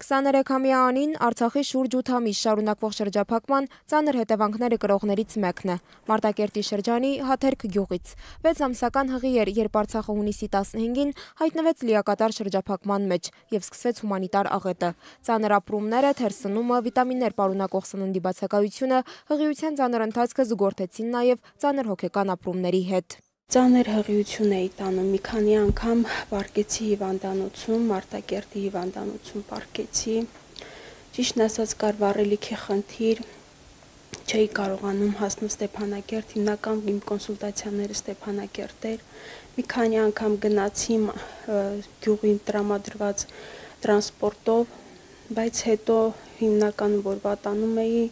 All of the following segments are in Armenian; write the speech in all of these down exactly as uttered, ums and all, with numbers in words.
քսաներեքամյա Անին Արցախի շուրջ ութ ամիս շարունակվող շրջափակման ծանր հետևանքները կրողներից մեկն է։ Մարտակերտի շրջանի Հաթերք գյուղից։ վեց ամսական հղի էր, երբ Արցախը հունիսի տասնհինգին հայտնվեց լիակատար շրջափակման մեջ և սկսվեց հումանիտար աղետը։ Ծանր ապրումները, թերսնումը, վիտամիններ պարունակող սննդի բացակայությունը, հղիության ծանր ընթացքը զուգորդեցին նաև ծանր հոգեկան ապրումների հետ։ Ծանր հղիություն էի տանում, մի քանի անգամ պարկեցի հիվանդանոցում, Մարտակերտի հիվանդանոցում պարկեցի, ճիշտն ասած կար վառելիքի խնդիր, չէի կարողանում հասնել Ստեփանակերտ, հիմնական իմ կոնսուլտացիաները Ստեփանակերտ էր, մի քանի անգամ գնացի գյուղին տրամադրված տրանսպորտով, բայց հետո հիմնականում որ վատանում էի,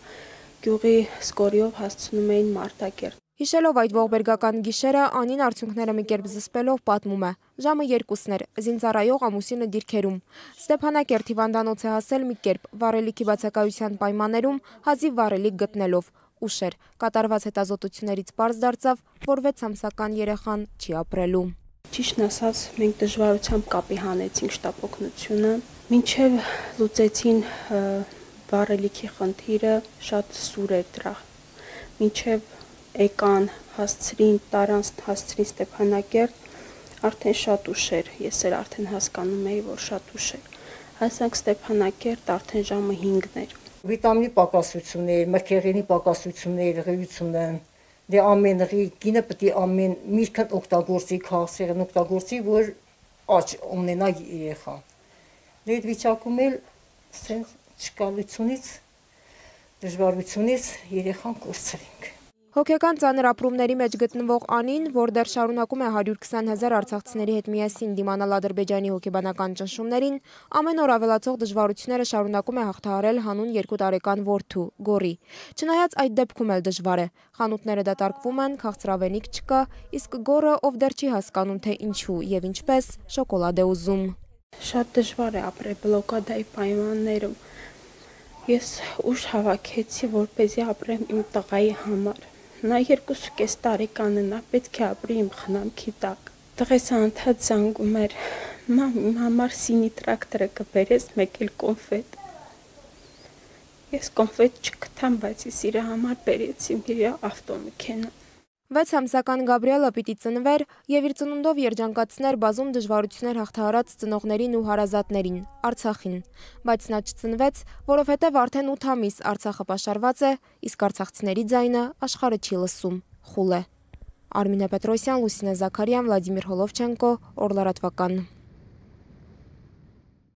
գյուղի սկորիով հասցնում էին Մարտակերտ։ Հիշելով այդ ողբերգական գիշերը, Անին արդյունքները մի կերպ զսպելով պատմում է. ժամը երկուսն էր, զինծառայող ամուսինը դիրքերում։ Ստեփանակերտ հիվանդանոց է հասել մի կերպ, վառելիքի բացակայության պայմաններում հազիվ վառելիք գտնելով։ Ուշ էր, կատարված հետազոտություններից պարզ դարձավ, որ վեց ամսական երեխան չի ապրելու։ Ճիշտն ասած, մենք դժվարությամբ կապի հանեցինք շտապօգնությունը, մինչև լուծեցին վառելիքի խնդիրը, շատ սուր էր դրա, մինչև եկան, հասցրին, տարան, հասցրին Ստեփանակերտ, արդեն շատ ուշ էր, ես էլ արդեն հասկանում էի, որ շատ ուշ էր, հասանք Ստեփանակերտ, արդեն ժամը հինգն էր։ Վիտամինի պակասություններ, մրգեղենի պակասություններ, հղիությունը, դե ամեն հղի կինը պետք է ամեն միրգն օգտագործի, քաղցրեղեն օգտագործի, որ աճ ունենա երեխան։ Դե այդ վիճակում էլ սենց չկալությունից, դժվարությունից երեխան կորցրինք։ Հոգեկան ծանր ապրումների մեջ գտնվող Անին, որ դեռ շարունակում է հարյուր քսան հազար արցախցիների հետ միասին դիմանալ Ադրբեջանի հոգեբանական ճնշումներին, ամեն օր ավելացող դժվարությունները շարունակում է հաղթահարել հանուն երկու տարեկան որդու՝ Գորի։ Չնայած այդ դեպքում էլ դժվար է։ Խանութները դատարկվում են, քաղցրավենիք չկա, իսկ Գորը, ով դեռ չի հասկանում, թե ինչու եւ ինչպես, շոկոլադ է ուզում։ Շատ դժվար է ապրել բլոկադայի պայմաններում։ Ես ուժ հավաքեցի, որպեսզի ապրեմ իմ տղայի համար։ Նա երկուսուկես տարեկան է, նա պետք է ապրի իմ խնամքի տակ։ Տղես անդադ զանգում էր, մամ, իմ համար սինի տրակտորը կբերես, մեկ էլ կոնֆետ։ Ես կոնֆետ չգտամ, բայց ես իր համար բերեցի իր ավտոմեքենա։ վեց ամսական Գաբրիելը պիտի ծնվեր և իր ծնունդով երջանկացներ բազում դժվարություններ հաղթահարած ծնողներին ու հարազատներին, Արցախին, բայց նա չծնվեց, որովհետև արդեն ութ ամիս Արցախը պաշարված է, իսկ արցախցիների ձայնը աշխարհը չի լսում, խուլ է։ Արմինե Պետրոսյան, Լուսինե Զաքարյան, Վլադիմիր Հոլովչենկո, Օր լրատվական։